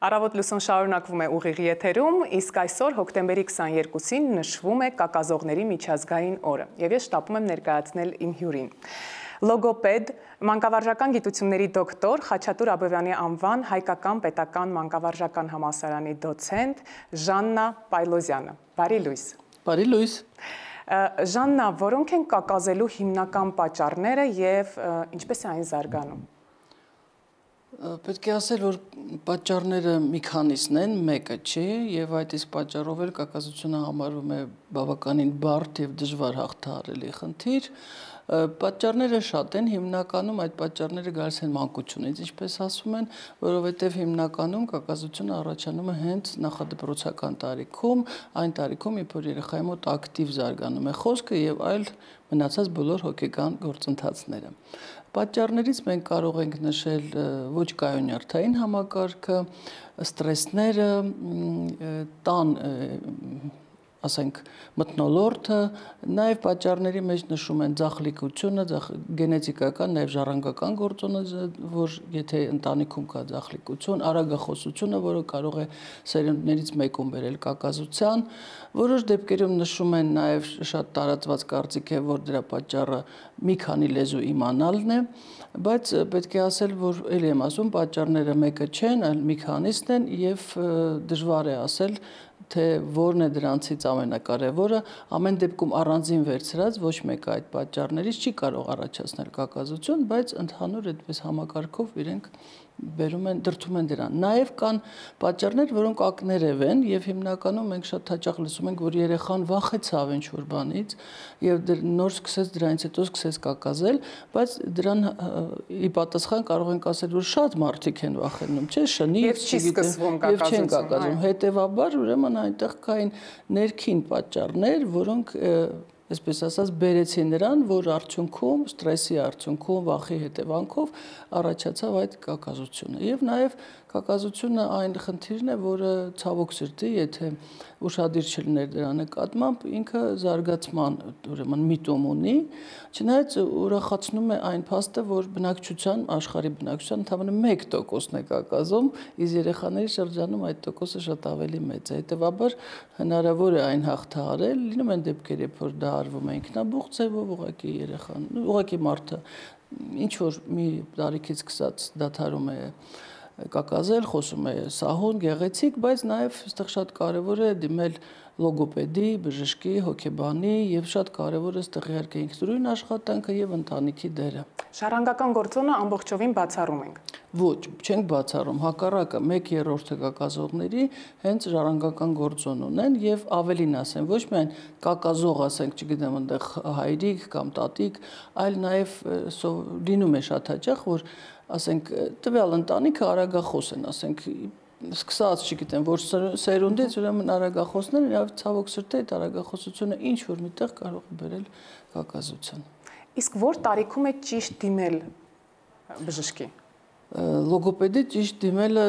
Առավոտ լուսոն շարունակվում է ուղիղ եթերում, իսկ այսօր հոկտեմբերի 22-ին նշվում է կակազողների միջազգային օրը, եւ ես շտապում եմ ներկայացնել իմ հյուրին։ Լոգոպեդ, մանկավարժական գիտությունների դոկտոր, Խաչատուր Աբովյանի անվան Հայկական պետական մանկավարժական համալսարանի դոցենտ Ժաննա Պայլոզյանը։ Բարի լույս։ Բարի լույս։ Ժաննա, որոնք են կակազելու հիմնական պատճառները եւ ինչպես է այն զարգանում։ Պետք է ասել, որ պատճառները մի քանիսն են, մեկը չի, եւ այդ իսկ պատճառով էլ կակազությունը համարվում է բավականին բարդ եւ դժվար հաղթահարելի խնդիր։ Պատճառները շատ են, հիմնականում այդ պատճառները գալիս են մանկությունից, ինչպես ասում են, որովհետև հիմնականում կակազությունը առաջանում է հենց նախադպրոցական տարիքում, այն տարիքում, երբ որ երեխայի մոտ ակտիվ զարգանում է խոսքը եւ այլ մնացած բոլոր հոգեկան գործընթացները։ Պատճառներից մենք կարող ենք նշել ոչ կայունյարդային համակարգը, ստրեսները, տան ասենք մթնոլորտը, նաև պատճառների մեջ նշում են ձախլիկությունը, գենետիկական, նաև ժառանգական գործոնը, որ եթե ընտանիքում կա ձախլիկություն, արագախոսությունը, որը կարող է սերունդներից մեկում բերել կակազության, որոշ դեպքերում նշում են նաև շատ տարածված կարծիք է, որ դրա պատճառը մի քանի լեզու իմանալն է, բայց պետք է ասել, որ ելի եմ ասում, պատճառները մեկը չեն, այլ մի քանիսն են եւ դժվար է ասել, թե որն է դրանցից ամենակարևորը, ամեն դեպքում առանձին վերցրած ոչ մեկը այդ պատճառներից չի կարող առաջացնել կակազություն, բայց ընդհանուր այդպես համակարգով իրենք դրդում են դրան։ Նաև կան պատճառներ, որոնք ակներև են եւ հիմնականում մենք շատ հաճախ լսում ենք, որ երեխան վախեցավ ինչ-որ բանից եւ նոր սկսեց դրանից հետո սկսեց կակազել, բայց դրան ի պատասխան կարող ենք ասել, որ շատ մարդիկ են վախենում, չէ՞, շնից եւ չի սկսվում կակազություն։ Հետեւաբար ուրեմն այնտեղ կային ներքին պատճառներ, որոնք այսպես ասած բերեցին նրան, որ արդյունքում ստրեսի արդյունքում վախի հետևանքով առաջացավ այդ կակազությունը։ Եվ նաև կակազությունը այն խնդիրն է, որը ցավոք սրտի, եթե ուշադիր չլիներ դրա նկատմամբ, ինքը զարգացման ուրեմն միտում ունի, չնայած ուրախացնում է այն փաստը, որ բնակչության, աշխարհի բնակչության ընդամենը 1%-ն է կակազում, իսկ երեխաների շրջանում այդ տոկոսը շատ ավելի մեծ է։ Հետևաբար հնարավոր է այն հաղթահարել, լինում են դեպքեր, երբ որ դա արվում է ինքնաբուխ ձևով, ուղղակի երեխան, ուղղակի մարդը ինչ որ մի տարիքից սկսած դադարում է կակազել, խոսում է սահուն, գեղեցիկ, բայց նաև այստեղ շատ կարևոր է դիմել լոգոպեդի, բժշկի, հոգեբանի եւ շատ կարևոր է այստեղ իհարկե ինքնուրույն աշխատանքը եւ ընտանիքի դերը։ Ժառանգական գործոնը ամբողջովին բացառում ենք։ Ոչ, չենք բացառում, հակառակը 1/3 կակազողների հենց ժառանգական գործոն ունեն եւ ավելին ասեմ, ոչ միայն կակազող, ասենք, չգիտեմ, այնտեղ հայրիկ կամ տատիկ, այլ նաեւ լինում է շատ հաճախ, որ ասենք տվյալ ընտանիքը արագախոս են, ասենք սկսած, չգիտեմ, որ սերունդից ուրեմն արագախոսներ եւ ցավոք սրտի այդ արագախոսությունը ինչ որ միտեղ կարող է բերել կակազության։ Իսկ որ տարիքում է ճիշտ դիմել բժշկի։ Լոգոպեդի ճիշտ դիմելը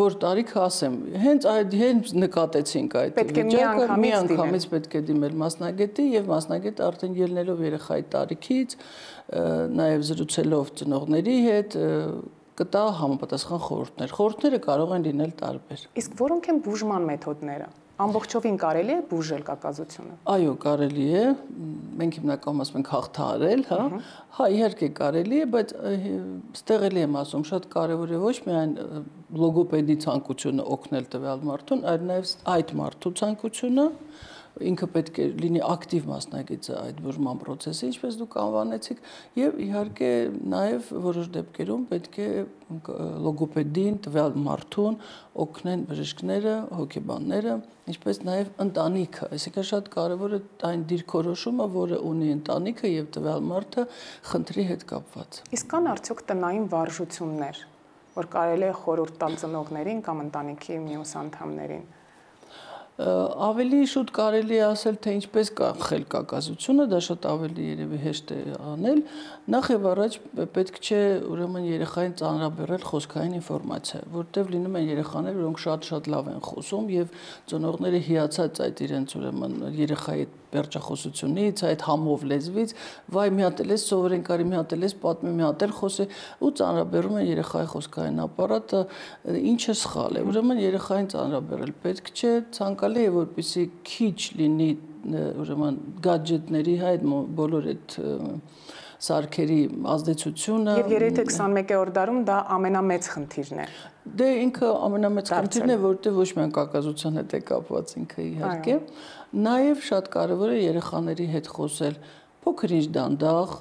որ տարիքը ասեմ, հենց նկատեցինք այդ վիճակը, միանգամից պետք է դիմել մասնագետի եւ մասնագետը արդեն ելնելով երեխայի տարիքից, նաեւ զրուցելով ծնողների հետ կտա համապատասխան խորհուրդներ։ Խորհուրդները կարող են լինել տարբեր։ Իսկ որոնք են բուժման մեթոդները։ Ամբողջովին կարելի է բուժել կակազությունը։ Այո, կարելի է։ Մենք հիմնականում ասում ենք հաղթահարել, հա։ Հա, իհարկե կարելի է, բայց ստեղ էլի եմ ասում, շատ կարևոր է ոչ միայն լոգոպեդի ցանկությունը օգնել տվյալ մարդուն, այլ նաև այդ մարդու ցանկությունը ինքը պետք է լինի ակտիվ մասնակիցը այդ բուժման process-ի, ինչպես դուք անվանեցիք, եւ իհարկե նաեւ որոշ դեպքերում պետք է լոգոպեդին, տվյալ մարդուն օգնեն բժիշկները, հոգեբանները, ինչպես նաեւ ընտանիքը, այսինքն շատ կարեւոր է այն դիրքորոշումը, որը ունի ընտանիքը եւ տվյալ մարդը խնդրի հետ կապված։ Իսկ կան արդյոք տնային վարժություններ, որ կարելի է խորհուրդ տալ ծնողներին կամ ընտանիքի մյուս անդամներին։ Ավելի շուտ կարելի է ասել, թե ինչպես կանխել կակազությունը, դա շատ ավելի երևի հեշտ է անել։ Նախ եւ առաջ պետք չէ ուրեմն երեխային ծանրաբեռել խոսքային ինֆորմացիա, որտեղ լինում են երեխաներ, որոնք շատ լավ են խոսում եւ ծնողները հիացած այդ իրենց ուրեմն երեխայի վերջախոսությունից, այդ համով լեզվից, վայ մի հատ էլ սովորեն կարի մի հատ էլ պատմի մի հատ էլ խոսի ու ծանրաբեռում են երեխայի խոսքային ապարատը, ինչը սխալ է։ Ուրեմն երեխային ծանրաբեռել պետք չէ, ցանկալի է որպեսզի քիչ լինի ուրեմն գադջետների հետ բոլոր այդ սարքերի ազդեցությունը։ Եվ երեթե 21-րդ դարում դա ամենամեծ խնդիրն է։ Դե ինքը ամենամեծ խնդիրն է, որտեղ ոչ միայն կակազության հետ է կապված ինքը իհարկե, նաև շատ կարևոր է երեխաների հետ խոսել փոքր ինչ դանդաղ,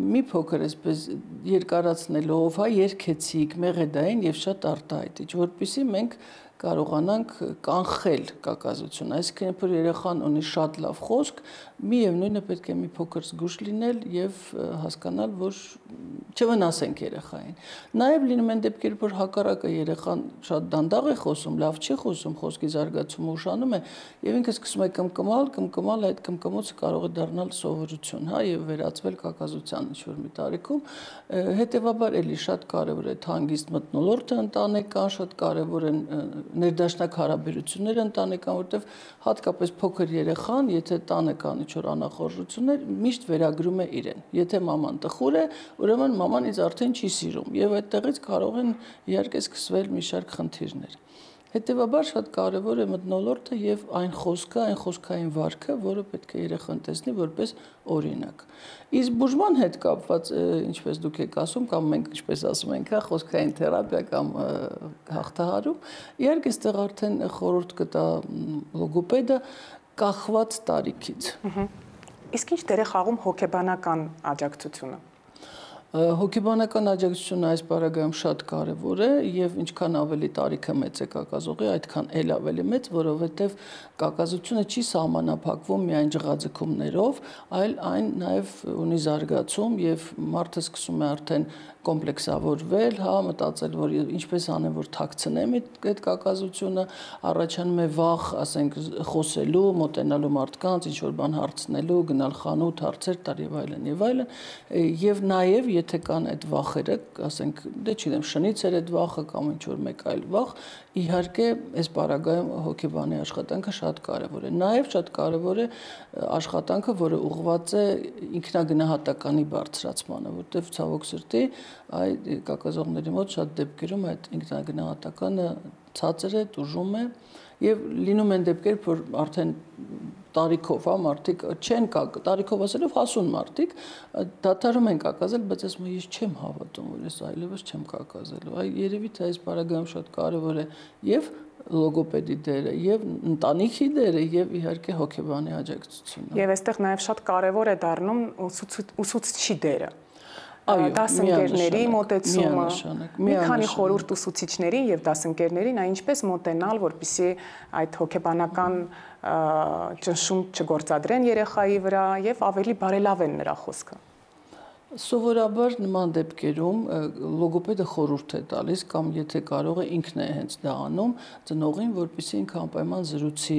մի փոքր այսպես երկարացնելով, երկեցիկ, մեղեդային եւ շատ արտահայտիչ, որպեսզի մենք կարողանանք կանխել կակազությունը, այսինքն որ երեխան ունի շատ լավ խոսք, միևնույնն է պետք է մի փոքր զգուշ լինել եւ հասկանալ, որ չվնասենք երեխային։ Նաեւ լինում են դեպքեր, որ հակառակը երեխան շատ դանդաղ է խոսում, լավ չի խոսում, խոսքի զարգացումը ուշանում է եւ ինքը սկսում է կմկմալ, այդ կմկմոցը կարող է դառնալ սովորություն, հա, եւ վերածվել կակազության ինչ-որ մի տարիքում։ Հետեւաբար էլի շատ կարեւոր է հանգիստ մթնոլորտը ընտանեկան, շատ կարեւոր են ներդաշնակ հարաբերությունները ընտանեկան, որտեղ հատկապես փոքր երեխան, եթե տանը կան ինչ-որ անախորժություններ, միշտ վերագրում է իրեն։ Եթե մաման տխուր է, ուրեմն մաման ինձ արդեն չի սիրում, եւ այդտեղից կարող են իհարկե սկսվել մի շարք խնդիրներ։ Հետևաբար շատ կարևոր է մթնոլորտը եւ այն խոսքը, այն խոսքային վարքը, որը պետք է երեխան տեսնի որպես օրինակ։ Իսկ բուժման հետ կապված, ինչպես դուք եք ասում, կամ մենք ինչպես ասում ենք, հա, խոսքային թերապիա կամ հաղթահարում, իհարկե այստեղ արդեն խորհուրդ կտա լոգոպեդը կախված տարիքից։ Իսկ ինչ դեր է խաղում հոգեբանական աջակցությունը։ Հոգեբանական աջակցությունը այս բaragայում շատ կարևոր է եւ ինչքան ավելի տարիքը մեծ է կակազողի, այդքան էլ ավելի մեծ, որովհետեւ կակազությունը չի սահմանափակվում միայն ջղաձգումներով, այլ այն նաեւ ունի զարգացում եւ մարդը սկսում է արդեն կոմպլեքսավորվել, հա, մտածել, որ ինչպես անեմ, որ թաքցնեմ այդ կակազությունը, առաջանում է վախ, ասենք, խոսելու, մոտենալու մարդկանց, ինչ-որ բան հարցնելու, գնալ խանութ, հարցեր տալ եւ այլն եւ այլն, եւ նաեւ եթե կան այդ վախերը, ասենք, դե չգիտեմ, շնից էր այդ վախը կամ ինչ-որ մեկ այլ վախ, իհարկե այս բaragայում հոգեբանի աշխատանքը շատ կարևոր է։ Նաեւ շատ կարևոր է աշխատանքը, որը ուղղված է ինքնագնահատականի բարձրացմանը, որտեղ ցավոք սրտի այդ կակազողների մոտ շատ դեպքերում այդ ինքնագնահատականը ցածր է, տուժում է եւ լինում են դեպքեր, որ արդեն տարիքով, հա, մարդիկ չեն տարիքով ասելով հասուն մարդիկ դադարում են կակազել, բայց ասում են ես չեմ հավատում, որ ես այլևս չեմ կակազելու։ Այ երևի թե այս բaragայում շատ կարևոր է եւ լոգոպեդի դերը եւ ընտանիքի դերը եւ իհարկե հոգեբանի աջակցությունը։ Եվ այստեղ նաեւ շատ կարևոր է դառնում ուսուցչի դերը։ Դասընկերների մոտեցումը, մի քանի խորհուրդ ուսուցիչներին եւ դասընկերներին, այնպես մոտենալ, որպեսզի այդ հոգեբանական ճնշում չգործադրեն երեխայի վրա եւ ավելի բարելավեն նրա խոսքը։ Սովորաբար նման դեպքերում լոգոպեդը խորհուրդ է տալիս կամ եթե կարող է ինքն է հենց դա անում ծնողին, որպեսզի ինքը անպայման զրուցի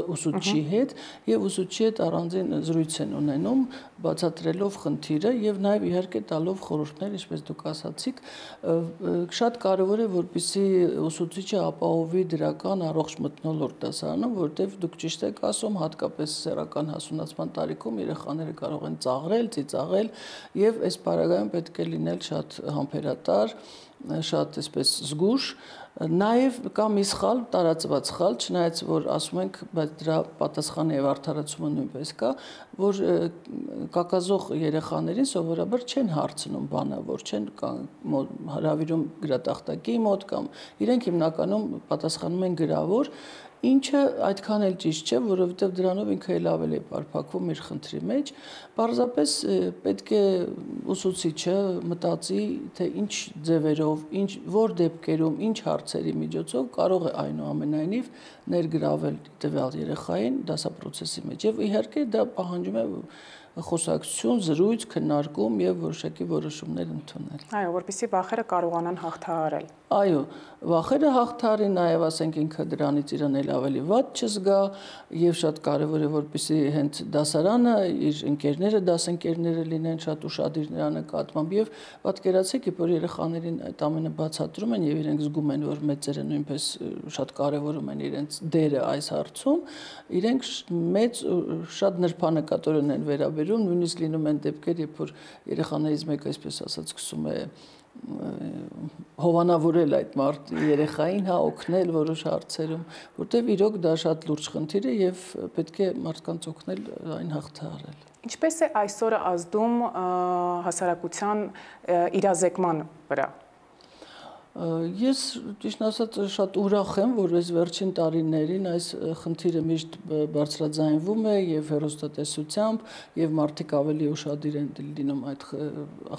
ուսուցչի հետ եւ ուսուցչի հետ առանձին զրույց են ունենում, բացատրելով խնդիրը եւ նաեւ իհարկե տալով խորհուրդներ, ինչպես դուք ասացիք, շատ կարեւոր է որպեսզի ուսուցիչը ապահովի դրական առողջ մթնոլորտ դասարանում, որտեղ դուք ճիշտ եք ասում, հատկապես սեռական հասունացման տարիքում երեխաները կարող են ծաղրել, ծիծաղել եւ այս բaragայում պետք է լինել շատ համբերատար, շատ այսպես զգուշ, նաեւ կա մի սխալ, տարածված սխալ, չնայած որ ասում ենք, բայց դրա պատասխանը եւ արդարացումը նույնպես կա, որ կակազող երեխաներին սովորաբար չեն հարցնում բանավոր, չեն հրավիրում գրատախտակի մոտ կամ իրենք հիմնականում պատասխանում են գրավոր, ինչը այդքան էլ ճիշտ չէ, որովհետև դրանով ինքը էլ ավելի է պարփակվում իր խնդրի մեջ, պարզապես պետք է ուսուցիչը մտածի, թե ինչ ձևերով, որ դեպքերում, ինչ հարցերի միջոցով կարող է այնուամենայնիվ ներգրավել տվյալ երեխային դասապրոցեսի մեջ եւ իհարկե դա պահանջում է խոսակցություն, զրույց, քննարկում եւ որոշակի որոշումներ ընդունել։ Այո, որպեսզի վախերը կարողանան հաղթահարել։ Այո, վախերը հաղթահարի, նաև ասենք ինքը դրանից իրան էլ ավելի վատ չզգա եւ շատ կարեւոր է որպեսզի հենց դասարանը իր ընկերները, դասընկերները լինեն շատ ուշադիր նրա նկատմամբ եւ պատկերացեք, որ երեխաներին այդ ամենը բացատրում են եւ իրենք զգում են, որ մեծերը նույնպես շատ կարեւորում են իրենց դերը այս հարցում, իրենք մեծ շատ նրբանկատորեն են վերաբերում, նույնիսկ լինում են դեպքեր, երբ որ երեխաներից մեկը, այսպես ասած, սկսում է հովանավորել այդ երեխային, հա, օգնել որոշ հարցերում, որտեղ իրոք դա շատ լուրջ խնդիր է եւ պետք է մարդկանց օգնել այն հաղթահարել։ Ինչպես է այսօրը ազդում հասարակության իրազեկման վրա։ Ես ճիշտ ասած շատ ուրախ եմ, որ այս վերջին տարիներին այս խնդիրը միշտ բարձրաձայնվում է եւ հեռուստատեսությամբ եւ մարդիկ ավելի ուշադիր են լինում այդ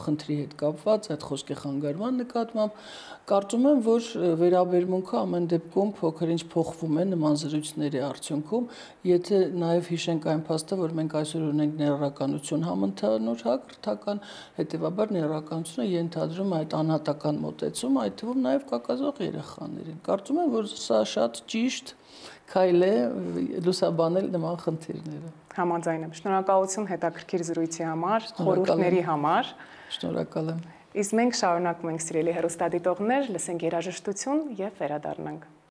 խնդրի հետ կապված, այդ խոսքի խանգարման նկատմամբ։ Կարծում եմ, որ վերաբերմունքը ամեն դեպքում փոքր-ինչ փոխվում է նման զրույցների արդյունքում, եթե նաեւ հիշենք այն փաստը, որ մենք այսօր ունենք ներառականություն համընդհանուր հաղորդական, հետեւաբար ներառականությունը ենթադրում է այդ անհատական մոտեցում, այդ թվում նաև կակազող երեխաներին։ Կարծում եմ, որ սա շատ ճիշտ քայլ է լուսաբանել նման խնդիրները։ Համաձայն եմ։ Շնորհակալություն հետաքրքիր զրույցի համար, խորհուրդների համար։ Շնորհակալ եմ։ Իսկ մենք շարունակում ենք, սիրելի հեռուստադիտողներ, լսենք երաժշտություն եւ վերադառնանք։